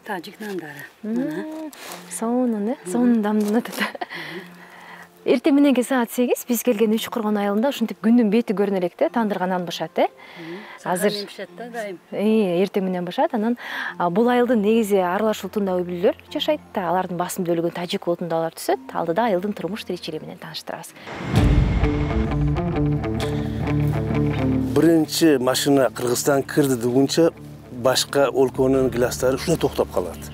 тажик нандары. Мына. Сонун, сонун дамдын өтөт. Эртең мененки саат 8 биз келген Үч Коргон айылында ушинтип күндүн бети көрүнө элек тандырган нан бышат, Азыр бышат да дайым. Эртең менен бышат. Анан бул айылдын негизи аралаш улутунда үй-бүлөлөр жашайт да, алардын басым бөлүгүн тажик улутунда алар түзөт. Алдыда айылдын турмуш тиричилиги менен тааныштырабыз. Биринчи машина Кыргызстан кирди дегенче башка өлкөнүн класстары ушунда токтоп калат.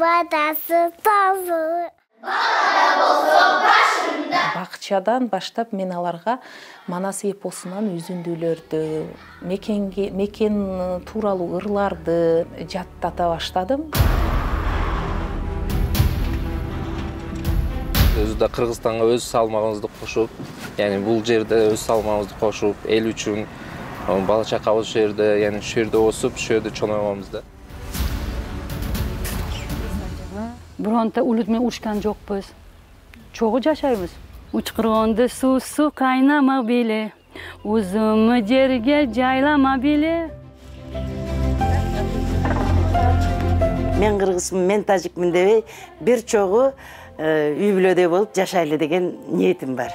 Батасы тазы. Бала болсо башында. Бакчадан баштап мен аларга Манас эпосунан үзүндүүлөрдү, мекен тууралуу ырларды жаттата баштадым. Өзү да Кыргызстанга өз салмагыбызды кошуп, бул жерде өз салмагыбызды кошуп, эл үчүн бала чакабыз ушул жерде, ушул жерде өсүп, ушул жерде чоңойгонбуз да. Бронта улут менен урушкан жокпуз. Чогуу жашайбыз. Уч Коргонду суусу кайнама беле, узуму жерге жайлама беле. Мен кыргызмын, мен тажикмин дебей, бир чогуу үй-бүлөдөй болуп жашайлы деген ниетим бар.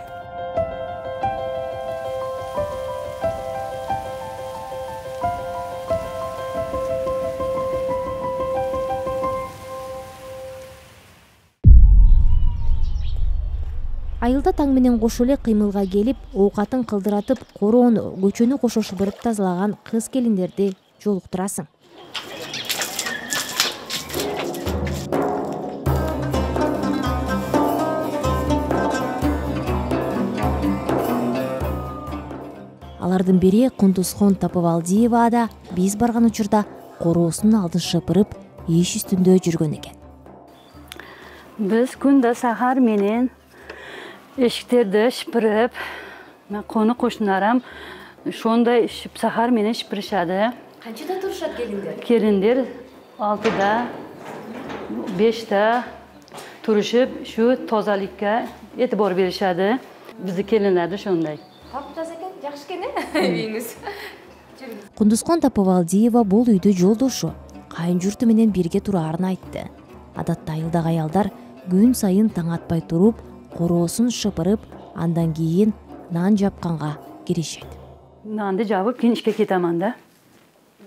Айылда таң менен кошо эле кыймылга келип, оокатын кылдыратып, короону, көчөнү кошо шыбырып тазалаган кыз-келиндерди жолуктурасың. Алардын бири Кундузхон Тапыбалдиева да биз барган учурда короосунун алдын шыпырып, иш үстүндө жүргөн экен. Биз күндө сахар менен эшиктерди шыпырып, кону кошуналарым ошондой сахар менен шыпырышады. Канчада турушат келиндер? Келиндер 6да, 5да турушуп, ушу тозалыкка этибар беришады. Биздин келиндер ошондой. Таптаза экен, жакшы экен, үйүңүз. Кундузхон Тапыбалдиева бул үйдө жолдошу, кайын журту менен бирге тураарын айтты. Адатта айылдагы аялдар күн сайын таң атпай туруп, короосун шыпырып, андан кийин нан жапканга киришет. Нанды жабып, кийин ишке кетемин да.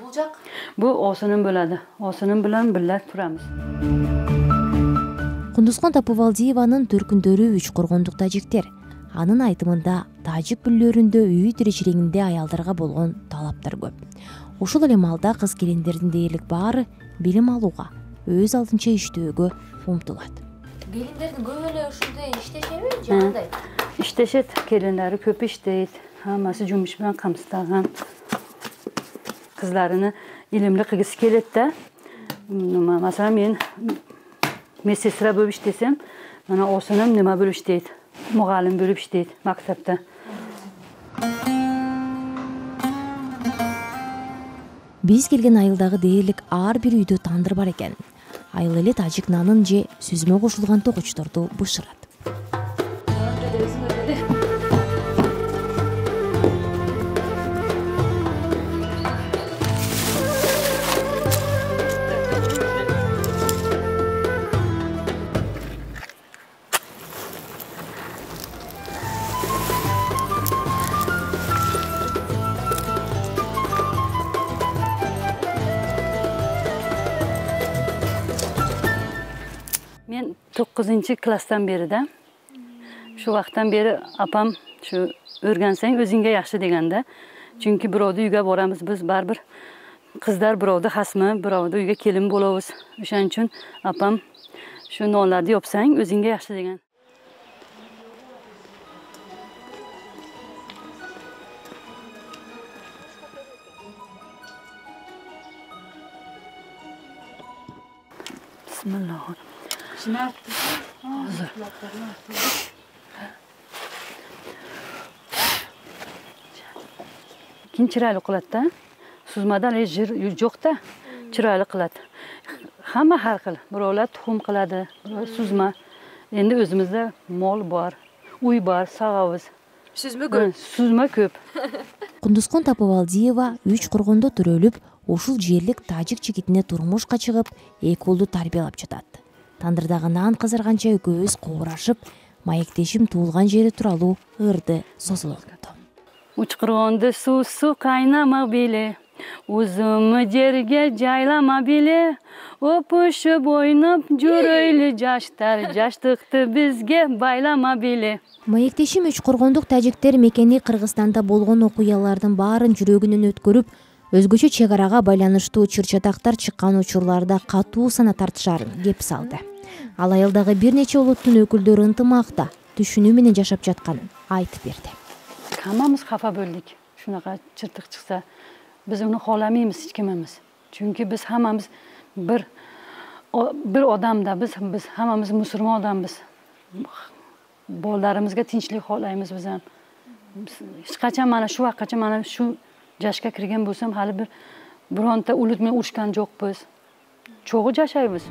Бул жак? Бул осунун бөлөдү. Осунун менен бирге турамыз. Кундузхон Тапыбалдиеванын төркүндөрү Үч Коргондук тажиктер. Анын айтымында тажик бүлөлөрүндө үй тиричилигинде аялдарга болгон талаптар көп. Ушул эле маалда кыз-келиндердин дээрлик баары билим алууга, өз алдынча иштөөгө умтулат. Келиндердин көбү эле ушундай иштешеби же кандай? Иштешет, келиндери көп иштейт. Хаммасы жумуш менен камсыздаган. Кызларыны илимли кылгысы келет да. Масалан, мен медсестра болуп иштесем, мына осунун нема болуп иштейт? Мугалим болуп иштейт мактапта. Биз келген айылдагы дээрлик ар бир үйдө тандыр бар экен. Айыл эле тажик нанын же сүзмө кошулган тогучторду бышырат. Мен 9-класстан бeri да. Şu vaqtdan beri apam şu o'rgansang o'zingga yaxshi deganda. Chunki birovni uyga boramiz biz baribir. Qizlar birovni xasmi, birovni uyga kelin bo'lamiz. O'shaning uchun apam shu nonlarni yopsang o'zingga yaxshi degan. Bismillahirrahmanirrahim. Keyin chiroyli qiladi-da. Suzmadan jir yo'q-da, chiroyli qiladi. Hamma har xil. Birovlar tuxum qiladi, birovlar suzma. Endi o'zimizda mol bor, uy bor, sag'amiz. Сүзмө көп. Сүзмө көп. Кундускон Тапыбалдиева 3 коргондо төрөлүп, ушул жерлик тажик жигитине турмушка чыгып, 2 уулду тарбиялап жатат. Тандырдагы нан кызарганча экөөбүз кобурашып, маектешим туулган жери тууралуу ырды созулупту. Учкургонду суу кайнама биле, узум жерге жайлама биле, опушуп ойноп жүрөйлү жаштар, жаштыкты бизге байлама биле. Маектешим 3 коргондук тажиктер мекени Кыргызстанда болгон окуялардын баарын жүрөгүнөн өткөрүп, өзгөчө чек арага байланыштуу чыр-чатактар чыккан учурларда катуу сана тартышарын кеп салды. Ал айылдагы бир нече улуттун өкүлдөрү ынтымакта, түшүнүү менен жашап жатканын айтып берди. Хаммамыз кафа болдук. Шунака чыртык чыкса, биз уну кааламайбыз эч кимimiz. Чүнкү биз хаммамыз bir odamda, biz hammamiz musulmon odammiz. Bolalarimizga tinchlik xohlaymiz biz ham. Hech qachon mana shu vaqtgacha mana shu yoshga kirgan bo'lsam, hali bironta ulut bilan urushgan yo'qmiz. Cho'g'i yashaymiz.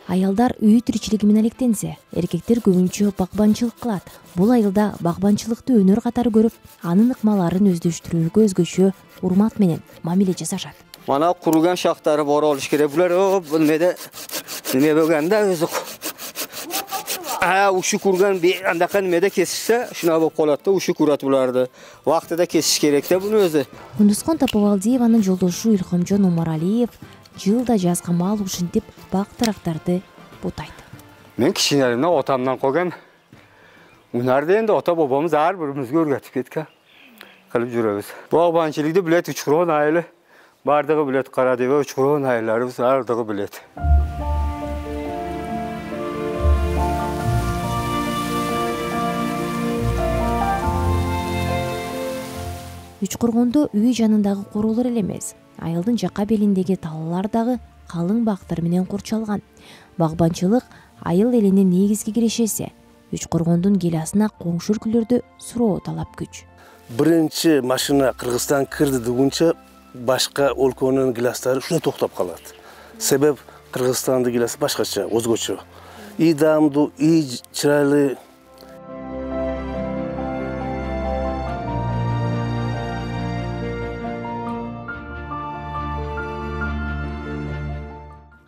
Аялдар үй тиричилиги менен алектенсе, эркектер көбүнчө багбанчылык кылат. Бул айылда багбанчылыкты өнөр катары көрүп, анын ыкмаларын өздөштүрүүгө өзгөчө урмат менен мамиле жасашат. Mana kurugan şaxtları bor oluş керек. Bular bilmede nime bölgende özü. Uşu kurgan bir andaka nimede kesişse şuna bop qolatda uşu kurat bulardı. Vaqtida kesiş керек de bunu özü. Кундускон Тапыбалдиеванын жолдошу Илхомжон Умаралиев жылда жазга мал ушинтип бак тарактарды бутайт. Мен кичинелимден отамдан койгом. Унарды энди ата бабамыз ар бирибизге өргөтүп кеткен. Кылып жүрөбүз. Багбанчылыкты билет 3 крон айылы. Бардығы білет, Қарадева, Учкурон айларыбыз ардығы білет. Учкургондо үй жанындагы курулар эле эмес, айылдын жака белиндеги талалар дагы калың бактар менен курчалган. Багбанчылык айыл элинин негизги кирешеси. Учкургондун гиласына коңшу өлкөлөрдө суроо талап күч. Биринчи машина Кыргызстан кирди дегенче башка өлкөнүн гиластары шуна токтоп калат. Себеп Кыргызстандын гиласы башкача, өзгөчө. И даамдуу, и чырайлуу.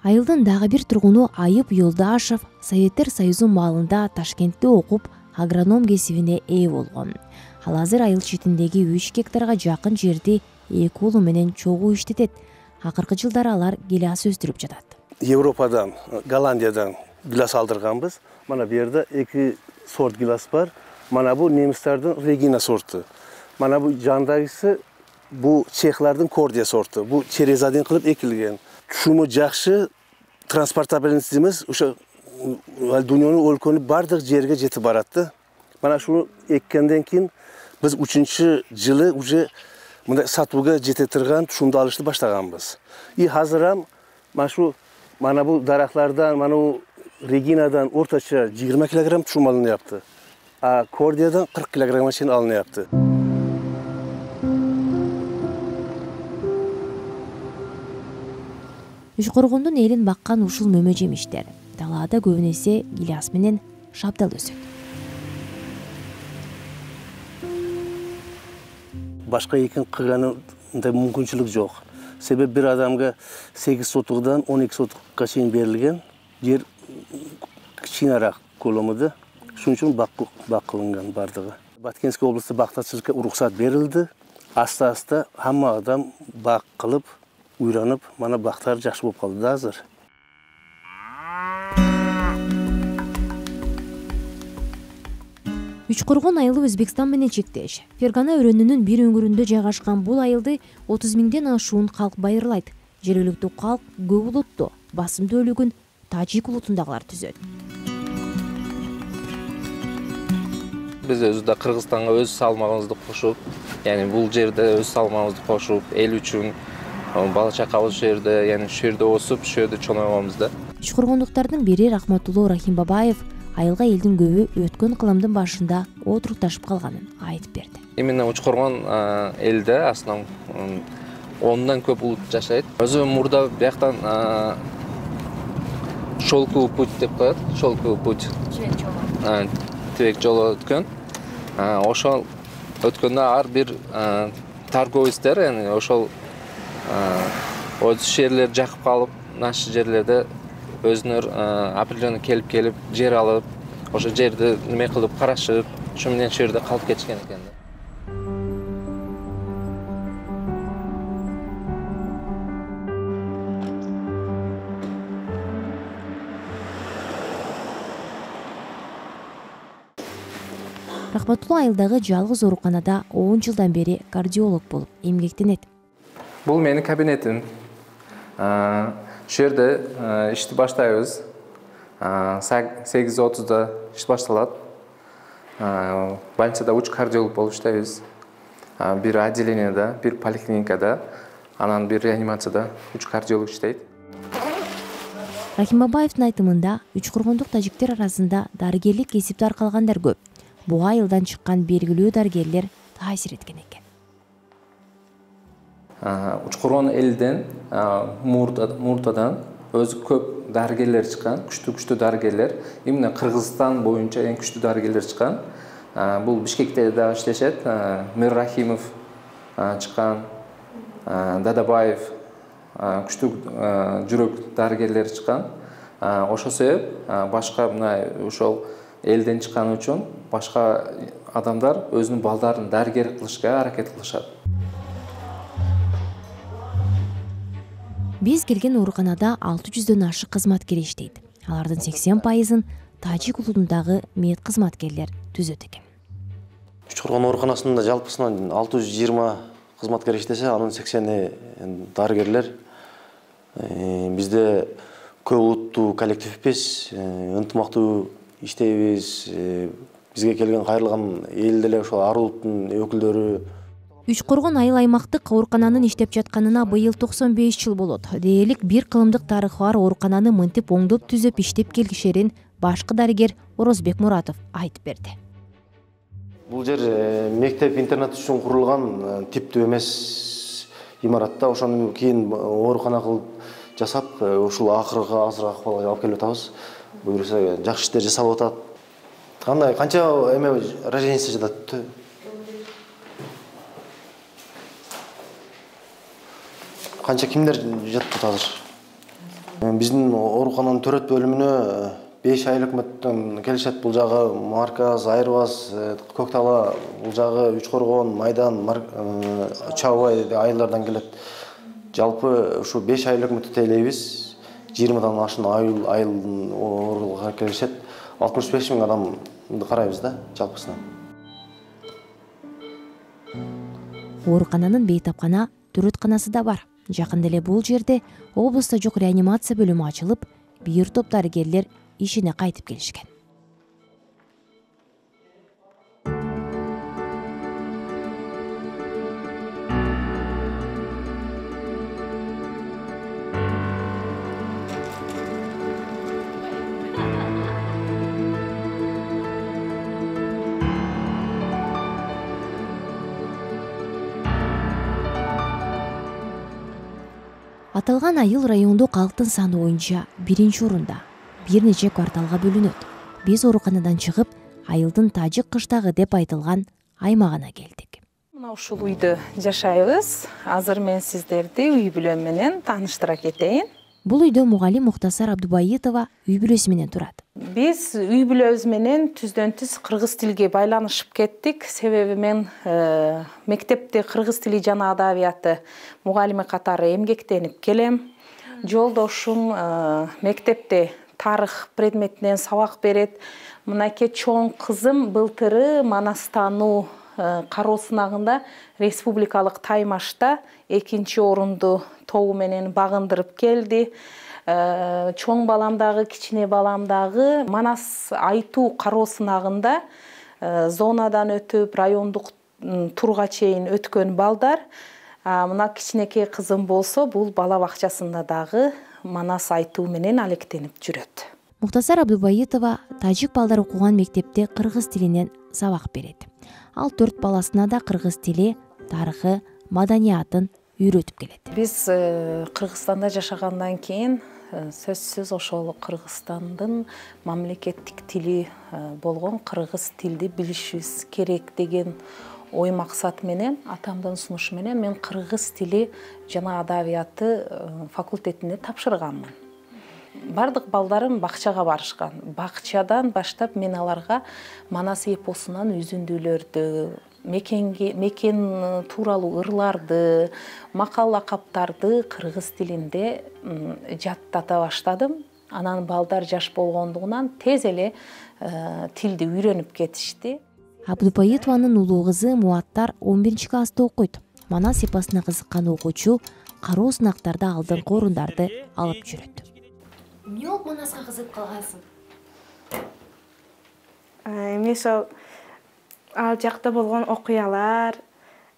Айылдын дагы бир тургуну Айып Юлдашев Советтер Союзу маалында Ташкентте окуп, агроном кесибине ээ болгон. Ал азыр айыл четиндеги 3 гектарга жакын жерди 2 уулу менен чогуу иштетет. Акыркы жылдары алар гилас өстүрүп жатат. Европадан, Голландиядан гилас алдырганбыз. Мана бу жерде 2 сорт гилас бар. Мана бу немистердин Регина сорту. Мана бу жандагысы бу чехлардын Кордия сорту. Бу черезаден кылып экилген. Шуму жакшы, транспортабельность эмес, ошо дүйнөнүн өлкөнүн бардык жерге жетип баратты. Мана шуну эккенден кийин биз 3-чы жылы уже мындай сатууга жете турган тушумду алышты баштаганбыз. И азыр mana bu дарактардан, mana bu Reginadan орточо 20 килограмм тушум алыныпты. А Кордиядан 40 килограммга чейин алыныпты. Учкургондун элин баккан ушул мөмө жемиштер талаада көбүнесе гилас менен шабдал өсөт. Башка экен кылганында мүмкүнчүлүк жок. Себеп бир адамга 8 сотугдан 12 сотукка чейин берилген жер кичинерээк коломуда. Шуның үчүн бак кылынган бардыгы. Баткенский областы бактачылыкка уруксат берилди. Аста-аста хамма адам бак кылып, уйранып, мана бактар жакшы болуп калды да азыр. Учкургон айылы Өзбекстан менен чектеш. Фергана өрөөнүнүн бир өңүрүндө жайгашкан бул айылды 30 миңден ашуун калк байырлайт. Жергиликтүү калк көп улуттуу, басымдуу бөлүгүн тажик улутундагылар түзөт. Биз өзү Кыргызстанга өз салмагыбызды кошуп, бул жерде өз салмагыбызды кошуп, эл үчүн бала чакабыз жерде, шу жерде өсүп, шу жерде чоңойгонбуз да. Учкургондуктардын бири Рахматулло Рахимбабаев айылга элдин көбү өткөн кылымдын башында отурукташып калганын айтып берди. Именно Учкургон элде основном 10-дан көп улут жашайт. Өзү мурда бияктан шелковый путь деп коет, шелковый путь. Бетибек жолу өткөн. Ошол өткөндө ар бир торговецтер, ошол жерлер жакып калып, нашы жерлерде өзүнөр определенный келип жер алып, ошо жерди неме кылып карашып, ошо менен ошол жерде калып кетишкен экен. Рахматулла айылдагы жалгыз ооруканада 10 жылдан бери кардиолог болуп эмгектенет. Бул менин кабинетим. Ошол жерде ишти баштайбыз. 8:30 иш башталат. Больницада уч кардиолог болуп иштейбиз. Бир отделениеде, бир поликлиникада, анан бир реанимацияда уч кардиолог иштейт. Рахим Бабаевдин айтымында Үчкургондук тажиктер арасында дарыгерлик кесипти аркалгандар көп. Буга айылдан чыккан белгилүү дарыгерлер таасир эткен экен. Учкургон элден, муртадан өзү көп дарыгерлер чыккан, күчтүү дарыгерлер. Именно Кыргызстан боюнча эң күчтүү дарыгерлер чыккан. Бул Бишкекте да иштешет. Мир Рахимов чыккан, Дадабаев, күчтүү жүрөк дарыгерлер чыккан. Ошол себеп башка мына ошол элден чыккан үчүн башка адамдар өзүнүн балдарын дарыгер кылышка аракет кылышат. Биз келген ооруканада 600дөн ашык кызматкер иштейт. Алардын 80%-ын тажик улутундагы мед кызматкерлер түзөт экен. Үчкургон ооруканасында жалпысынан 620 кызматкер иштесе, анын 80-и дарыгерлер. Бизде көп улуттуу коллективбиз, ынтымактуу иштейбиз. Бизге келген кайрылган эл деле ошол ар улуттун өкүлдөрү. Үчкургон айыл аймактык оорукананын иштеп жатканына быйыл 95 жыл болот. Дээрлик бир кылымдык тарыхы бар оорукананы мынтип оңдоп түзөп иштеп келишерин башкы дарыгер Орозбек Муратов айтып берди. Бул жер мектеп-интернат үчүн курулган типтүү эмес имаратта, ошондон кийин оорукана кылып жасап, ушул акыркы азыр акыбалга алып келип атабыз. Буюрса жакшы иштер жасалып атат. Кандай канча эме рождениеси жатат? Канча кимдер жатат азыр? Биздин оорукананын төрөт бөлүмүнө 5 айыл өкмөттөн келишет. Бул жагы Марказ, Айырбас, Көктала, бул жагы Үчкургон, Майдан, Чабай айылдардан келет. Жалпы ушу 5 айыл өкмөттү тейлейбиз. 20дан ашын айылдын ооруканага келишет. 65 000 адамды карайбыз да жалпысынан. Оорукананын бейтапкана төрөтканасы да бар. Жакында эле бул жерде облустта жок реанимация бөлүмү ачылып, бир топ дарыгерлер ишине кайтып келишкен. Аталган айыл райондук калктын саны боюнча 1-орунда, бир нече кварталга бөлүнөт. Биз ооруканадан чыгып, айылдын тажик кыштагы деп айтылган аймагына келдик. Мына ушул үйдө жашайбыз. Азыр мен сиздерди үй бүлөм менен тааныштыра кетейин. Бул үйдө мугалим Муктасар Абдубайытова үй бүлөсү менен турат. Биз үй бүлөбүз менен түздөн түз кыргыз тилге байланышып кеттик. Себеби мен мектепте кыргыз тили жана адабияты мугалими катары эмгектенип келем. Жолдошум мектепте тарых предметинен сабак берет. Мынакей чоң кызым былтыры Манастануу кароо сынагында республикалык таймашта 2-орунду тобу менен багындырып келди. Чоң баламдагы, кичине баламдагы Манас айтуу кароо сынагында зонадан өтүп, райондук турга чейин өткөн балдар. Мына кичинекей кызым болсо, бул бала бакчасында дагы Манас айтуу менен алектенип жүрөт. Муктасар Абдубайытова тажик балдар окуган мектепте кыргыз тилинен сабак берет. Ал 4 баласына да кыргыз тили, тарыхы, маданиятын үйрөтүп келет. Биз Кыргызстанда жашагандан кийин сөзсүз ошол Кыргызстандын мамлекеттик тили болгон кыргыз тилди билишибиз керек деген ой максат менен, атамдын сунушу менен мен кыргыз тили жана адабияты факультетине тапшырганмын. Бардык балдарым бакчага барышкан. Бакчадан баштап мен аларга Манас эпосунан үзүндүүлөрдү, мекен тууралуу ырларды, макал лакаптарды кыргыз тилинде жаттата баштадым. Анан балдар жаш болгондугунан тез эле тилди үйрөнүп кетишти. Абдубайытованын улуу кызы Муаттар 11-класста окуйт. Манас эпосуна кызыккан окуучу кароо сынактарда алдыңкы орундарды алып жүрөт. Эмне болуп Манаска кызыгып калгансың? Эми ошол ал жакта болгон окуялар,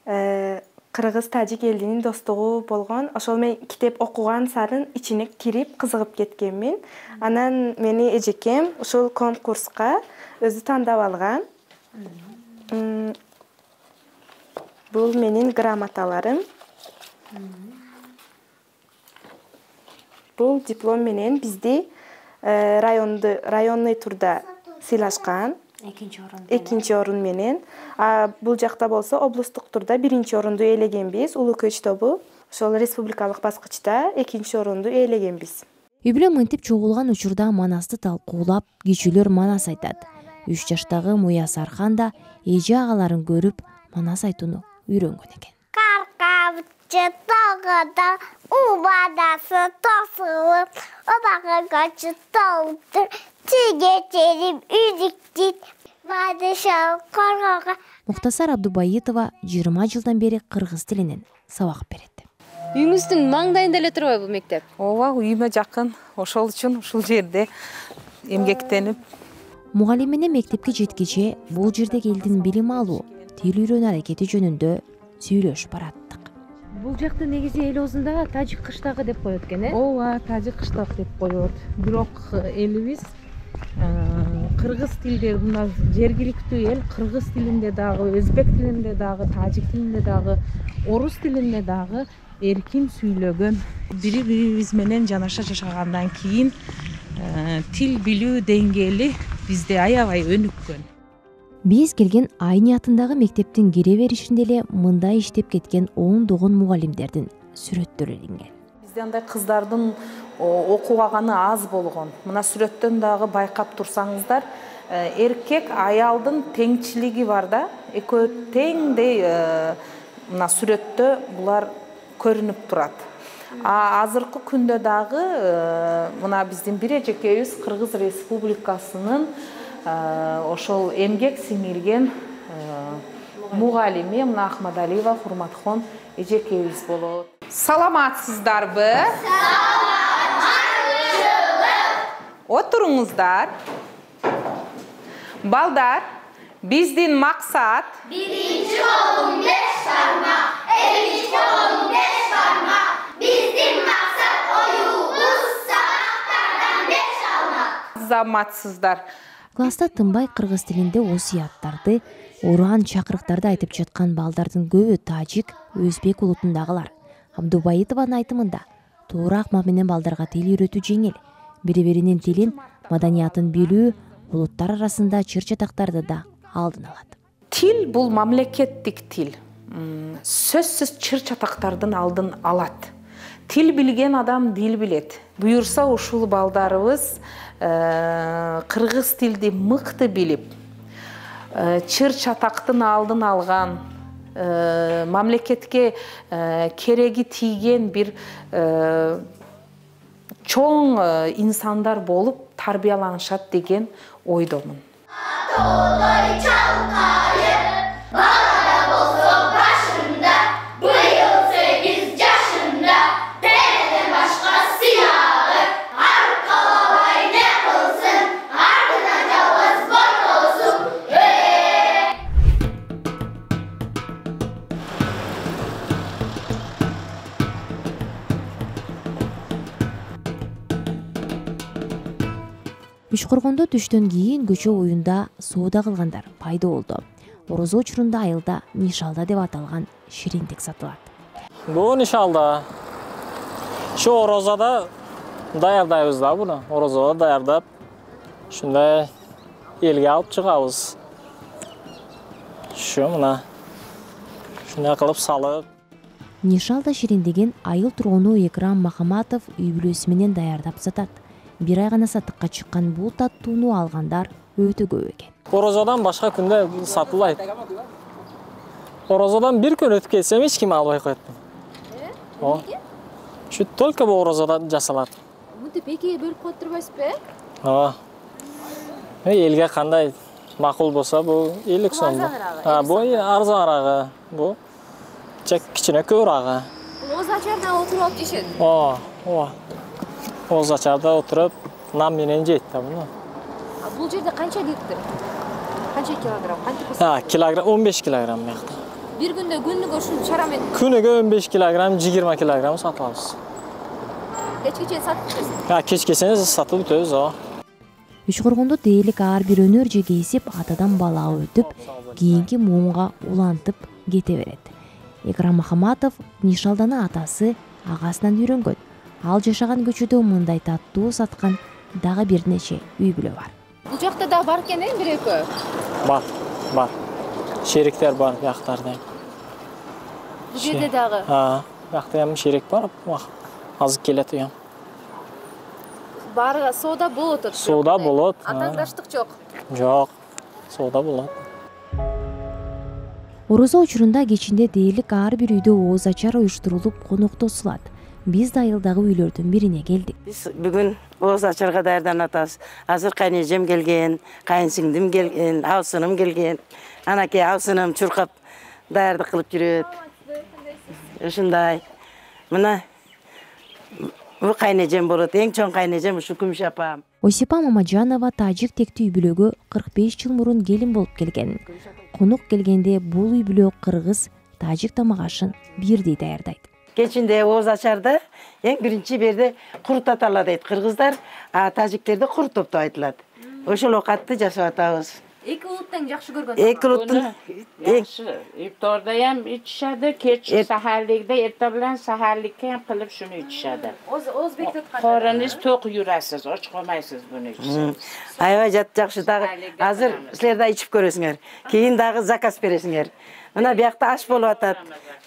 кыргыз тажик элинин достугу болгон. Ошол мен китеп окуган сарын ичине кирип кызыгып кеткенмин. Анан мени эжекем ушул конкурска өзү тандап алган. Бул менин грамоталарым. Бул диплом менен бизди районный турда сыйлашкан. Экинчи орун менен. Бул жакта болсо облустук турда биринчи орунду ээлегенбиз. Улуу көч тобу. Ошол республикалык баскычта экинчи орунду ээлегенбиз. Үй бүлө мынтип чогулган учурда Манасты талкуулап, кичүүлөр Манас айтат. 3 жаштагы Муяс Архан да эже агаларын көрүп Манас айтууну үйрөнгөн экен. Каркабчы тагыда убадасы тосулуп, обага качы толуптур, тиге терим үзүктүт, бадышал коргога. Муктасар Абдубайытова 20 жылдан бери кыргыз тилинен сабак берет. Үйүңүздүн маңдайында эле турбайбы бул мектеп? Ооба, үйүмө жакын. Ошол үчүн ушул жерде эмгектенип. Мугалимине мектепке жеткиче бул жерде элдин билим алуу, тил үйрөнүү аракети жөнүндө сүйлөшүп бараттык. Бул жакта негизи эл оозунда тажик кыштагы деп коет экен, э? Ооба, тажик кыштак деп коет. Бирок элибиз кыргыз тилде мына жергиликтүү эл кыргыз тилинде дагы, өзбек тилинде дагы, тажик тилинде дагы, орус тилинде дагы эркин сүйлөгөн. Бири-бирибиз менен жанаша жашагандан кийин тил билүү деңгээли бизде аябай өнүккөн. Биз келген Айни атындагы мектептин кире беришинде эле мындай иштеп кеткен ондогон мугалимдердин сүрөттөрү илинген. Бизде андай кыздардын окубаганы аз болгон. Мына сүрөттөн дагы байкап турсаңыздар, эркек аялдын теңчилиги бар да, экөө теңдей мына сүрөттө булар көрүнүп турат. Азыркы күндө дагы мына биздин бир эжекебиз Кыргыз Республикасынын ошол эмгек сиңирген мугалими мына Ахмадалиева Хурматхон эжекебиз болот. Саламатсыздарбы? Отуруңуздар. Балдар, биздин максат Биринчи болуң 5 бармак, экинчи болуң 5 бармак. Биздин максат оюбуз сабактардан 5 алмак. Заматсыздар. Класста тынбай кыргыз тилинде осуяттарды, уран чакырыктарды айтып жаткан балдардын көбү тажик, өзбек улутундагылар. Абдубайытованын айтымында туура акма менен балдарга тил үйрөтүү жеңил. Бири-биринин тилин, маданиятын билүү улуттар арасында чыр-чатактарды да алдын алат. Тил бул мамлекеттик тил. Сөзсүз чыр-чатактардын алдын алат. Тил билген адам дил билет. Буюрса ушул балдарыбыз кыргыз тилди мыкты билип, чыр-чатактын алдын алган, мамлекетке кереги тийген бир чоң инсандар болуп тарбияланышат деген ойдомун. Тоолой чалкайып, балада болсо башында, быйыл 8 жашында, денеден башка сыягы, аркалабай не кылсын, артынан жалгыз ботосун. Үшкөргөндө түштөн кийин көчө оюнда соода кылгандар пайда болду. Орозо учурунда айылда нишалда деп аталган шириндик сатылат. Бул нишалда. Şu орозада даярдайбыз да буну. Орозого даярдап, ушундай элге алып чыгабыз. Şu мына. Шундай кылып салып. Нишалда шириндеген айыл тургуну Экрам Махаматов үй бүлөсү менен даярдап сатат. Бир ай гана сатыкка чыккан бул таттууну алгандар өтө көп экен. Орозодон башка күндө сатылбайт. Орозодон бир күн өтүп кетсем эч ким албай коет. Эмнеге? Şu только бу орозодон жасалат. Мынтип экиге бөлүп коюп турбайсызбы? Ооба. Элге кандай макул болсо бу 50 сом. Бу арзанырагы. Бу кичине көбүрөөгү. Оз ачарда отуруп алып жешет. Ооба. Оз ачарда отуруп нам менен жейт да буну. Бул жерде канча литр? Канча килограмм? Канча? Килограмм 15 килограмм мякты. Бир күндө күнүгө ушул чара менен күнүгө 15 килограмм, 20 килограмм сатып алабыз. Кечке чейин сатып кетесиз? Кечкесине сатып бүтөбүз, ооба. Үчкургондо дээрлик ар бир өнөр же кесип атадан балага өтүп, кийинки муунга улантып кете берет. Экрам Махаматов Нишалданы атасы агасынан үйрөнгөн. Ал жашаган көчөдө мындай таттуу саткан дагы бир нече үй бүлө бар. Бул жакта да бар экен, бир экөө? Бар. Шериктер бар бияктарда. Бул жерде дагы? Бияқта ham шерик бар. Азыр келет уям. Бары соода болот. Соода болот. Атаңдаштык жок. Жок. Соода болот. Орозо учурунда кечинде дээрлик ар бир үйдө ооз ачар уюштурулуп коноктосулат. Биз да айылдагы үйлөрдүн бирине келдик. Биз бүгүн ооз ачарга даярданып атабыз. Азыр кайнежем келген, кайынсиңдим келген, абысыным келген. Анакей абысыным чуркап даярдык кылып жүрөт. Ушундай. Мына бу кайнежем болот. Эң чоң кайнежем ушу Күмүш апам. Осипа Мамаджанова тажик тектүү үй бүлөгө 45 жыл мурун келин болуп келген. Конук келгенде бул үй бүлө кыргыз, тажик тамак ашын бирдей даярдайт. Кечинде ооз ачарда эң биринчи берде курут атала дейт кыргыздар, тажиктерде курут топтоп айтылат. Ошол оокатты жасап атабыз. Эки улуттан жакшы көргөн. Эки улуттун жакшы. Ифторда ham ичишadi, kechki saharlikda erta bilan saharlikka ham qilib shuni ичишadi. O'zbekda qoringiz to'q yurasiz, och qolmaysiz buni ichsangiz. Аябай жакшы дагы. Азыр силер да ичип көрөсүңөр. Кийин дагы заказ бересиңер. Мына биякта аш болуп атат.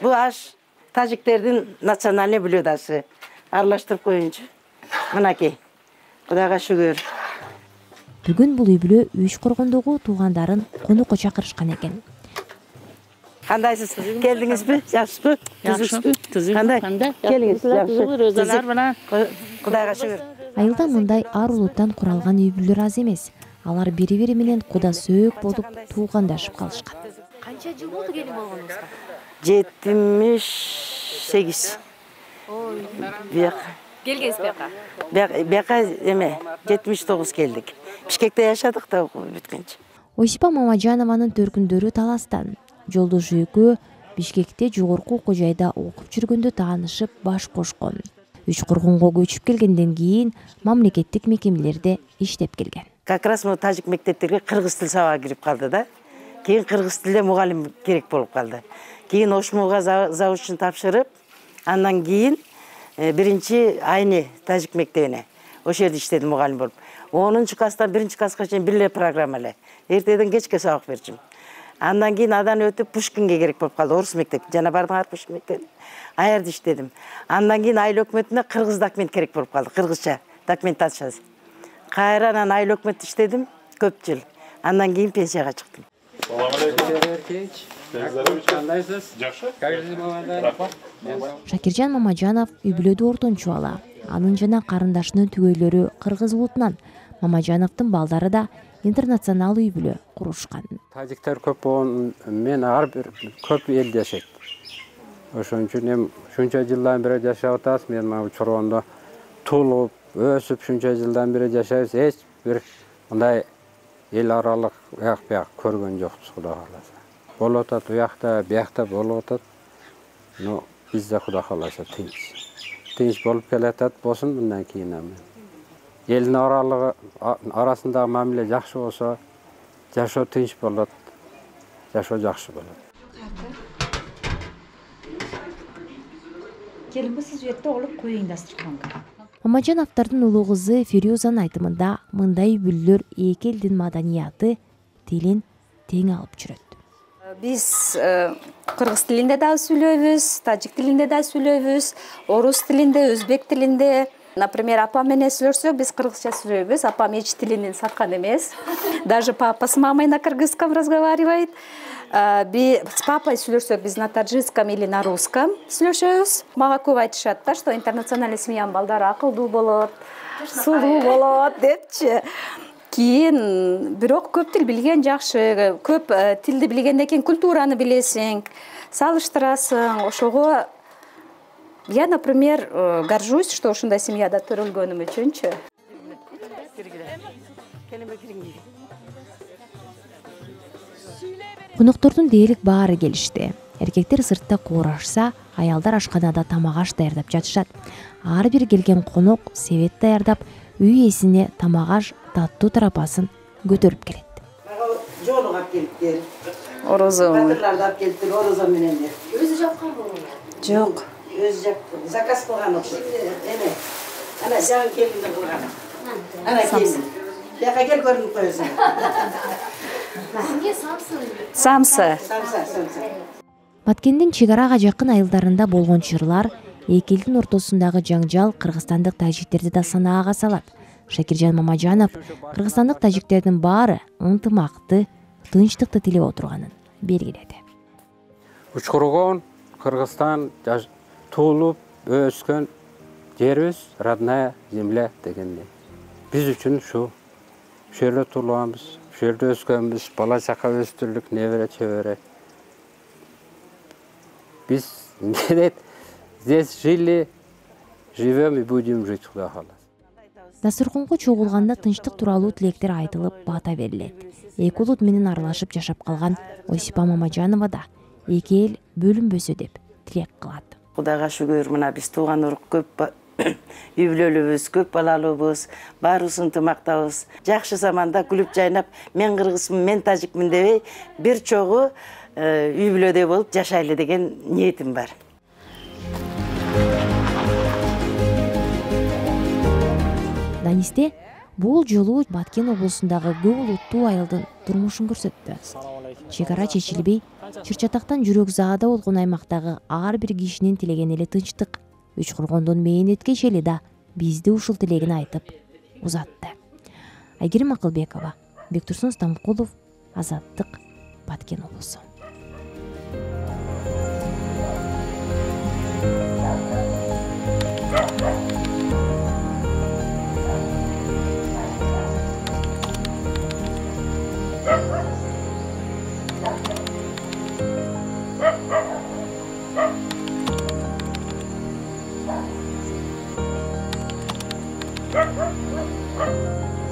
Бул аш тажиктердин национальный блюдасы. Аралаштырып коюнчу. Мынакей. Кудайга шүгүр. Бүгүн бул үй бүлө Үчкоргондогу туугандарын конокко чакырышкан экен. Кандайсыз? Келдиңизби? Жакшысызбы? Түзүксүзбү? Кандай? Келиңиз. Өзүлөр менен Кудайга шүгүр. Айылда мындай ар улуттан куралган үй бүлөлөр аз эмес. Алар бири-бири менен куда сөөк болуп туугандашып калышкан. Канча жыл болду келин болгонуңузга? 78. Бияк. Келгенсиз бияка? Бияка эме 79 келдик. Бишкекте жашадык да бүткөнчө. Осипа Мамаджанованын төркүндөрү Таластан. Жолдошу экөө Бишкекте жогорку окуу жайда окуп жүргөндө таанышып баш кошкон. Үчкоргонго көчүп келгенден кийин мамлекеттик мекемелерде иштеп келген. Как раз мы тажик мектептерге кыргыз тил сабагы кирип калды да. Кийин кыргыз тилде мугалим керек болуп калды. Кийин ошмуга заучун тапшырып, андан кийин биринчи айны тажик мектебине ошол жерде иштедим мугалим болуп. 10-класстан 1-класска чейин бир эле программа эле. Эртеден кечке сабак берчүм. Андан кийин адан өтүп Пушкинге керек болуп калды, орус мектеп. Жана бардым Пушкин мектеп. Аярда иштедим. Андан кийин айыл өкмөтүнө кыргыз документ керек болуп калды, кыргызча документация. Кайрадан айыл өкмөтүндө иштедим көп жыл. Андан кийин пенсияга чыктым. Шакиржан Мамаджанов үй бүлөдө ортончу бала. Анын жана карындашынын түгөйлөрү кыргыз улутунан. Мамаджановдун балдары да интернационал үй бүлө курушкан. Тажиктер көп болгон мен ар бир көп элде жашайт. Ошон үчүн эми шунча жылдан бери жашап атабыз. Мен мына Чоргондо туулуп, өсүп шунча жылдан бери жашайбыз. Эч бир мындай эл аралык уяк-буяк көргөн жокпуз, Кудай кааласа. Болуп атат уякта, биякта болуп атат. Но бизде Кудай кааласа тынч. Тынч болуп келатат болсун мындан кийин эми. Элдин арасындагы мамиле жакшы болсо, жашоо тынч болот, жашоо жакшы болот. Келинби сиз жерде олуп коюйун дастырханга. Мамажановдордун улуу кызы Фирюзанын айтымында мындай үй-бүлөлөр эки элдин маданияты, тилин тең алып жүрөт. Биз кыргыз тилинде да сүйлөйбүз, тажик тилинде да сүйлөйбүз, орус тилинде, өзбек тилинде. Например, апам менен сүйлөшсөк, биз кыргызча сүйлөйбүз. Апам эч тилинен саткан эмес. Даже папа с мамой на кыргызском разговаривает. С папой сүйлөшсөк, биз на таджикском или на русском сүйлөшөбүз. Мага көп айтышат да, что интернациональный семьянын балдары акылдуу болот, сулуу болот депчи. Кийин бирок көп тил билген жакшы. Көп тилди билгенден кийин культураны билесиң, салыштырасың. Ошого я, например, горжусь, что ушундай семьяда төрөлгөнүм үчүнчү. Коноктордун дээрлик баары келишти. Эркектер сыртта куурашса, аялдар ашканада тамак аш даярдап жатышат. Ар бир келген конок себет даярдап, үй ээсине тамак аш таттуу тарапасын көтөрүп келет. Жоолук алып келиптир. Орозо. Батырларды алып келиптир, орозо менен. Өзү жапкан болобу? Жок. Өзү жапты. Заказ кылган окшойт. Эме. Ана жаңы келиндер кылган. Ана келин. Жака кел көрүнүп коесуң. Сизге самсы. Самсы. Баткендин чек арага жакын айылдарында болгон чырлар, эки элдин ортосундагы жаңжал кыргызстандык тажиктерди да санаага салат. Шакиржан Мамажанов кыргызстандык тажиктердин баары ынтымакты, тынчтыкты тилеп отурганын белгиледи. Учкургон Кыргызстан туулуп өскөн жерибиз, родная земля дегенде. Биз үчүн ушу жерде туулганбыз, жерде өскөнбүз, бала чака өстүрдүк, небере чебере. Биз здесь жили, живем и будем жить, Кудай кааласа. Дастурконго чогулганда тынчтык тууралуу тилектер айтылып, бата берилет. Эки улут менен аралашып жашап калган Осипа Мамажанова да эки эл бөлүнбөсө деп тилек кылат. Кудайга шүгүр, мына биз тууган урук көп, үй бүлөлүүбүз, көп балалуубуз, баарыбыз ынтымактабыз. Жакшы заманда күлүп жайнап, мен кыргызмын, мен тажикмин дебей, бир чогуу үй бүлөдөй болуп жашайлы деген ниетим бар. Данисте бул жолу Баткен облусундагы көп улуттуу айылдын турмушун көрсөттү. Чек ара чечилбей, чыр-чатактан жүрөк заада болгон аймактагы ар бир кишинин тилеген эле тынчтык. Учкургондун мээнеткеч эли да бизди ушул тилегин айтып узатты. Айгерим Акылбекова, Бектурсун Стамкулов, Азаттык, Баткен облусу. Thank you.